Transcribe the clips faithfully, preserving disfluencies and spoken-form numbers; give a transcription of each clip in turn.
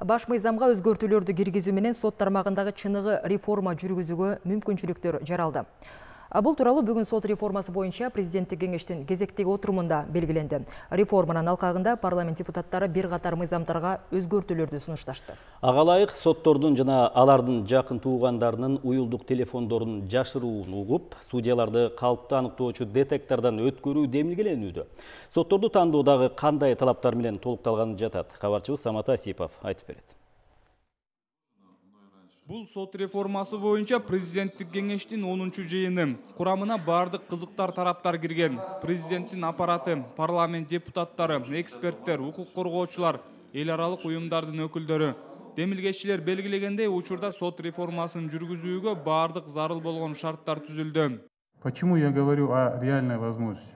Баш мыйзамга өзгөртүүлөрдү киргизүү менен сот тармагындагы чыныгы реформа жүргүзүүгө мүмкүнчүлүктөр жаралды. Бул тууралуу бүгүн сот реформасы боюнча президенттик кеңештин кезектеги отурумунда белгиленди. Реформанын алкагында парламент депутаттары бир катар мыйзамдарга өзгөртүүлөрдү сунушташты. Ага ылайык соттордун жана алардын жакын туугандарынын уюлдук телефондорун жашыруун угуп, судьяларды калпты аныктоочу детектордон өткөрүү демилгеленүүдө. Сотторду тандоодагы кандай талаптар менен толукталганы жатат? Кабарчыбыз Самат Асипов айтып берет. Бул сот реформасы боюнча президенттик кеңештин онунчу жыйыны. Курамына бардык кызыктар тараптар кирген. Президенттин аппараты, парламент депутаттары, эксперттер, укук коргоочулар, эл аралык уюмдардын өкүлдөрү. Демилгечилер белгилегендей, учурда сот реформасын жүргүзүүгө бардык зарыл болгон шарттар түзүлдү. Почему я говорю о реальной возможности?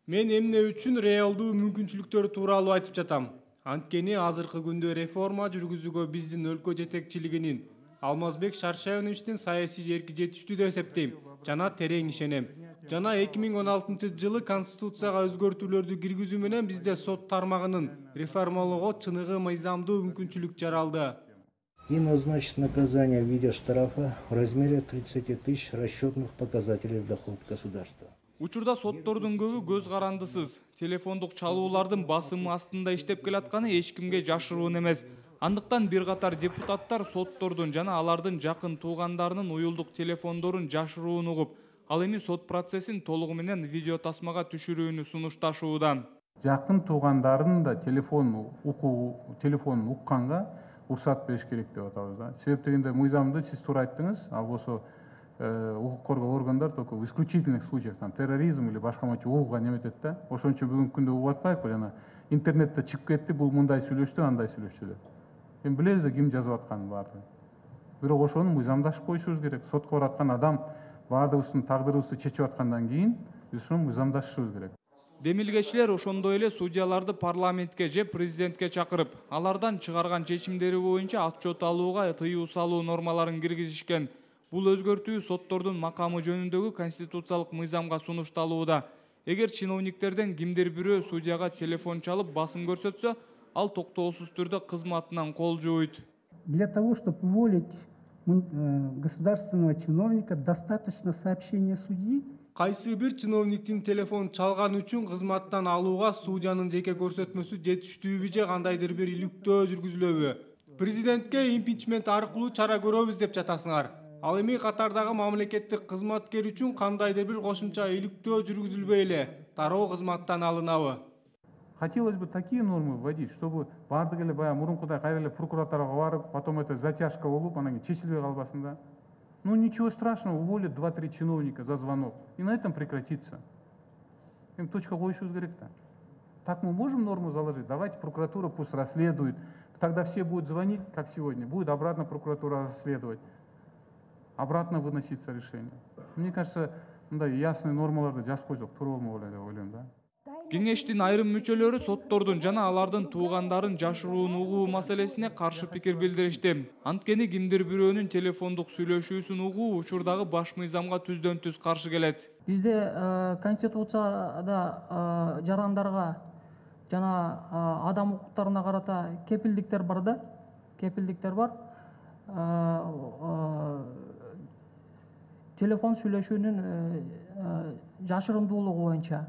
Мен эмне үчүн реалдуу мүмкүнчүлүктөр тууралуу айтып жатам. Анткени азыркы күндө реформа жүргүзүүгө биздин өлкө жетекчилигинин, Алмазбек Шаршеевичтин саясий эрки жетиштүү деп эсептейм жана терең ишенем. Жана эки миң он алтынчы жылы Конституцияга өзгөртүүлөрдү киргизүү менен бизде сот тармагынын реформалоого чыныгы мыйзамдуу мүмкүнчүлүк жаралды. И назначить наказание в виде штрафа в размере тридцати тысяч расчетных показателей в доход государства. Учурда соттордун көбү көз карандысыз. Телефондук чалуулардын басымы астында иштеп келатканы эч кимге жашыруун эмес. Андыктан бир катар депутаттар соттордун жана алардын жакын туугандарынын уюлдук телефондорун жашыруун угуп, ал эми сот процессин толугу менен видео тасмага түшүрүүнү сунушташууда. Жакын туугандарынын да телефон укуу, телефонун укканга уруксат бериш керек деп атабыз да. Себеп дегенде мыйзамды сиз туура айттыңыз, ал болсо укук коргоо органдар только в исключительных случаях, там терроризм или башка мынча угууга неметет да. Ошон үчүн бүгүнкү күндө угуп атпайбы, жана интернетте чыгып кетти, бул мындай сүйлөштү, андай сүйлөштү деп. Эми билебиз ким жазып атканын баардыгын. Бирок ошону мыйзамдашып коюшубуз керек. Сотко бараткан адам баардыгыбыздын тагдырыбызды чечип аткандан кийин биз ушуну мыйзамдашышыбыз керек. Демилгечилер ошондой эле судьяларды парламентке же президентке чакырып, алардан чыгарган чечимдери боюнча отчет алууга тыюу салуу нормаларын киргизишкен. Бул өзгөртүү соттордун макамы жөнүндөгү конституциялык мыйзамга сунушталууда. Эгер чиновниктерден кимдир бирөө судьяга телефон чалып басым көрсөтсө, ал токтоосуз түрдө кызматынан кол жууйт. Для того, чтобы уволить государственного чиновника, достаточно сообщения судьи. Кайсы бир чиновниктин телефон чалган үчүн кызматтан алууга судьянын жеке көрсөтмөсү жетиштүүбү же кандайдыр бир иликтөө жүргүзүлөбү? Президентке импичмент аркылуу чара көрөбүз деп жатасыңар. Ал эми катардагы мамлекеттик кызматкер үчүн кандайдыр бир кошумча иликтөө жүргүзүлбөй эле тароо кызматтан алынабы? Хотелось бы такие нормы вводить, чтобы бардык эле баягы мурункудай кайра эле прокуратурага барып, потом это затяжка болуп, анан кийин чечилбей калбасын да. Ну ничего страшного, уволят два-три чиновника за звонок, и на этом прекратится. Эми точка коюшубуз керек да. Так мы можем норму заложить? Давайте прокуратура пусть расследует. Тогда все будут звонить, как сегодня, будет обратно прокуратура расследовать. Обратно выноситься решение. Мне кажется, мындай ясный нормаларды жазып койсок туура болмок эле деп ойлойм да. Кеңештин айрым мүчөлөрү соттордун жана алардын туугандарын жашыруун угуу маселесине каршы пикир билдиришти. Анткени кимдир бирөөнүн телефондук сүйлөшүүсүн угуу учурдагы баш мыйзамга түздөн түз каршы келет. Бизде конституцияда жарандарга жана адам укуктарына карата кепилдиктер бар да, кепилдиктер бар. Телефон сүйлөшүүнүн жашырымдуулугу боюнча.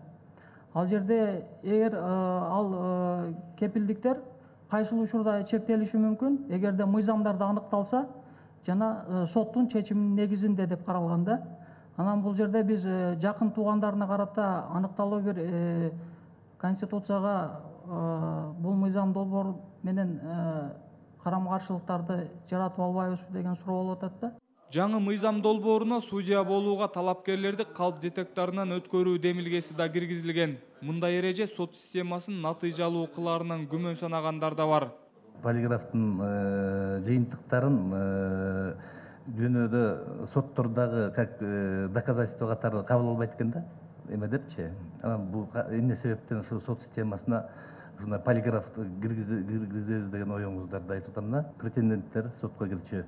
Ал жерде эгер ал кепилдиктер кайсыл учурда чектелиши мүмкүн, эгерде мыйзамдарда аныкталса жана соттун чечиминин негизинде деп каралган да. Анан бул жерде биз жакын туугандарына карата аныкталуу бир конституцияга бул мыйзам долбоор менен карама-каршылыктарды жаратып албайбызбы деген суроо болуп атат да. Жаңы мыйзам долбооруна судья болууга талапкерлерди калп детекторунан өткөрүү демилгеси да киргизилген. Мындай эреже сот системасын натыйжалуу кылаарынан күмөн санагандар да бар. Полиграфтын жыйынтыктарын дүйнөдө соттордогу как доказательство катары кабыл албайт экен да. Эме депчи. Анан бул эмне себептен ушу сот системасына ушундай полиграф киргизебиз деген оюңуздарды айтып атам да. Претенденттер сотко кирчү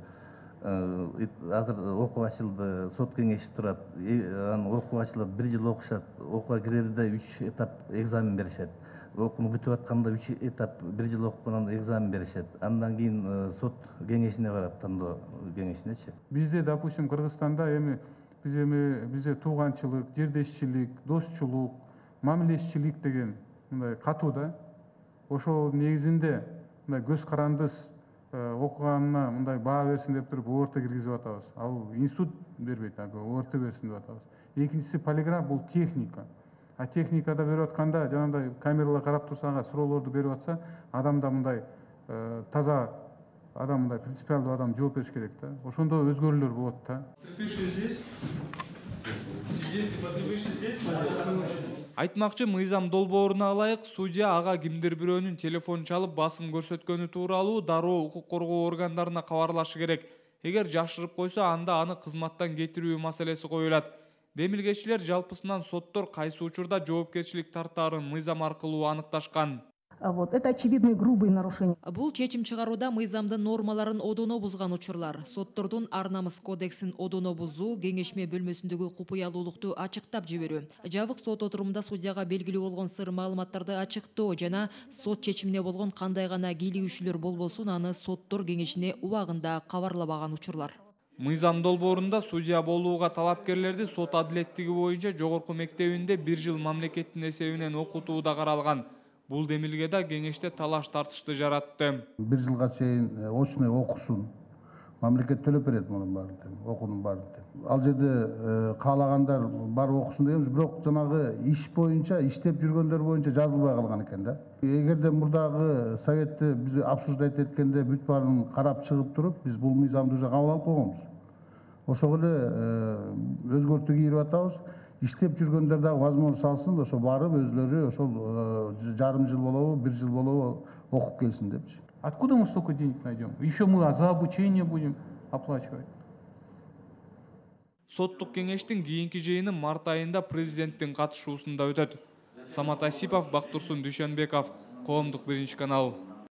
азыр окуу ачылды, сот кеңеши турат, анан окуу ачылат, бир жыл окушат, окууга кирерде үч этап экзамен беришет. окууну бүтүп атканда үч этап бир жыл окуп анан экзамен беришет. Андан кийин сот кеңешине барат, тандоо кеңешинечи. Бизде, допустим, Кыргызстанда эми биз эми бизде тууганчылык, жердешчилик, досчулук, мамилешчилик деген мындай катуу да. Ошол негизинде мындай көз карандыс окуганына мындай баа берсин деп туруп ОРТ киргизип атабыз. Ал институт бербейт, ОРТ берсин деп атабыз. Экинчиси полиграф, бул техника. А техникада берип атканда жанагындай камералар карап турса, ага суроолорду берип атса, адамда мындай таза адам, мындай принципиалдуу адам жооп бериш керек да. Ошондо өзгөрүүлөр болот да. Айтмакчы, мыйзам долбооруна ылайык судья ага кимдир бирөөнүн телефон чалып басым көрсөткөнү тууралуу дароо укук коргоо органдарына кабарлашы керек. Эгер жашырып койсо, анда аны кызматтан кетирүү маселеси коюлат. Демилгечилер жалпысынан соттор кайсы учурда жоопкерчилик тартаарын мыйзам аркылуу аныкташкан. Вот это очевидные грубые нарушения. Бул чечим чыгарууда мыйзамдын нормаларын одоно бузган учурлар. Соттордун ар намыс кодексин одоно бузуу, кеңешме бөлмөсүндөгү купуялуулукту ачыктап жиберүү, жабык сот отурумунда судьяга белгилүү болгон сыр маалыматтарды ачыктоо жана сот чечимине болгон кандай гана кийлигишүүлөр болбосун аны соттор кеңешине убагында кабарламаган учурлар. Мыйзам долбоорунда судья болууга талапкерлерди сот адилеттиги боюнча жогорку мектебинде бир жыл мамлекеттин эсебинен окутуу да каралган. Бул демилгеде кеңеште талаш тартышты жаратты. Бир жылга чейин очный окусун, мамлекет төлөп берет мунун баарын, окуунун баарын. Ал жерде каалагандар бар окусун дегенбиз, бирок жанагы иш боюнча, иштеп жүргөндөр боюнча жазылбай калган экен да. Эгерде мурдагы советти биз обсуждать эткенде бүт баарын карап чыгып туруп, биз бул мыйзамды уже кабыл алып койгонбуз. Ошого эле өзгөртүү кирип атабыз. Иштеп жүргөндөр дагы возможность алсын, ошо барып өзлөрү ошол жарым жыл болобу, бир жыл болобу окуп келсин депчи. Откуда мы столько денег найдем? Еще мы за обучение будем оплачивать. Соттук кеңештин кийинки жыйыны март айында президенттин катышуусунда өтөт. Самат Асипов, Бактурсун Дүйшөнбеков, Коомдук биринчи канал.